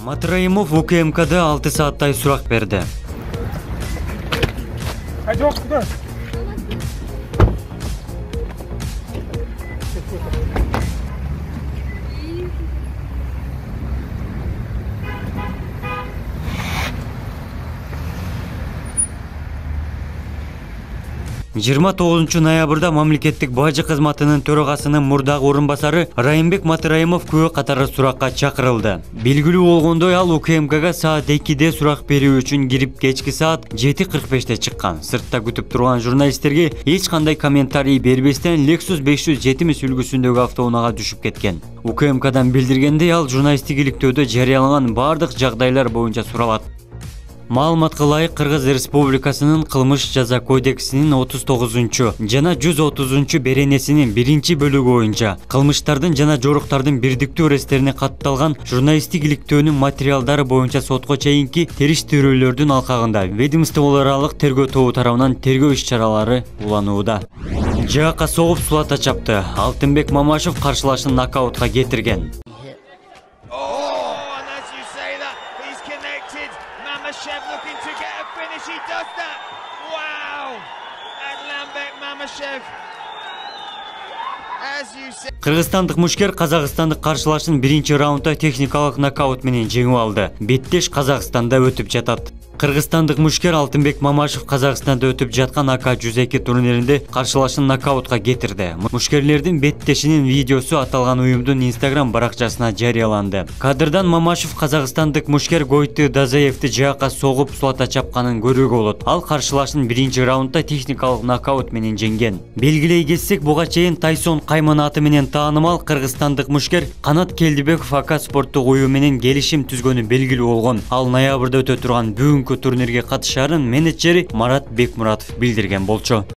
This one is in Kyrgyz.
Матраимов УКМКда 6 сааттай сурак берди. Жыйырма 9 ноябрда мамлекеттик бажы кызматынын төрагасынын мурдагы орун басары Райымбек Матраимов күбө катары суракка чакырылды. Белгилүү болгондой, ал УКМКга саат 2-де сурак берүү үчүн кирип, кечки саат 7:45-те чыккан. Сыртта күтүп турган журналисттерге эч кандай комментарий бербестен Lexus 570 үлгүсүндөгү автоунаага түшүп кеткен. УКМКдан билдиргендей, ал журналисттик иликтөөдө жарыялаган бардык жагдайлар боюнча суралат. Маалыматка ылайык, Кыргыз Республикасынын кылмыш жаза кодексинин 39 жана 130 беренесинин 1-бөлүгү боюнча кылмыштардын жана жоруктардын бирдиктүү эстерине катталган журналисттик иликтөөнүн материалдары боюнча сотко чейинки териштирүүлөрдүн алкагында ведомстволор аралык тергөө тобу тарабынан тергөө иш-чаралары уланууда. Жакка согуп сулата чапты. Алтынбек Мамашев каршылашын нокаутка кетирген. Mamashev looking to get a finish. He does that. Wow! Adlanbek Mamashev. Кыргызстандык мушкер казакстандык каршылашын 1-раундда техникалык нокаут менен жеңип алды. Беттеш Казакстанда өтүп жатат. Кыргызстандык мушкер Алтынбек Мамашев Казакстанда өтүп жаткан АК-102 турниринде каршылашын нокаутка кетирди. Мушкерлердин беттешинин видеосу аталган уюмдун Instagram баракчасына жарыяланды. Кадрдан Мамашев казакстандык мушкер Гойты Дазаевди жакка согуп сулата чапканын көрүүгө болот. Ал каршылашын 1-раундда техникалык нокаут менен жеңген. Белгилей кетсек, буга чейин Тайсон Кайман аты менен таанымал кыргызстандык мушкер Канат Келдибеков АК спорттук уюм менен келишим түзгөнү белгилүү болгон. Ал ноябрда өтө турган бүгүнкү турнирге катышарын менеджери Марат Бекмуратов билдирген болчу.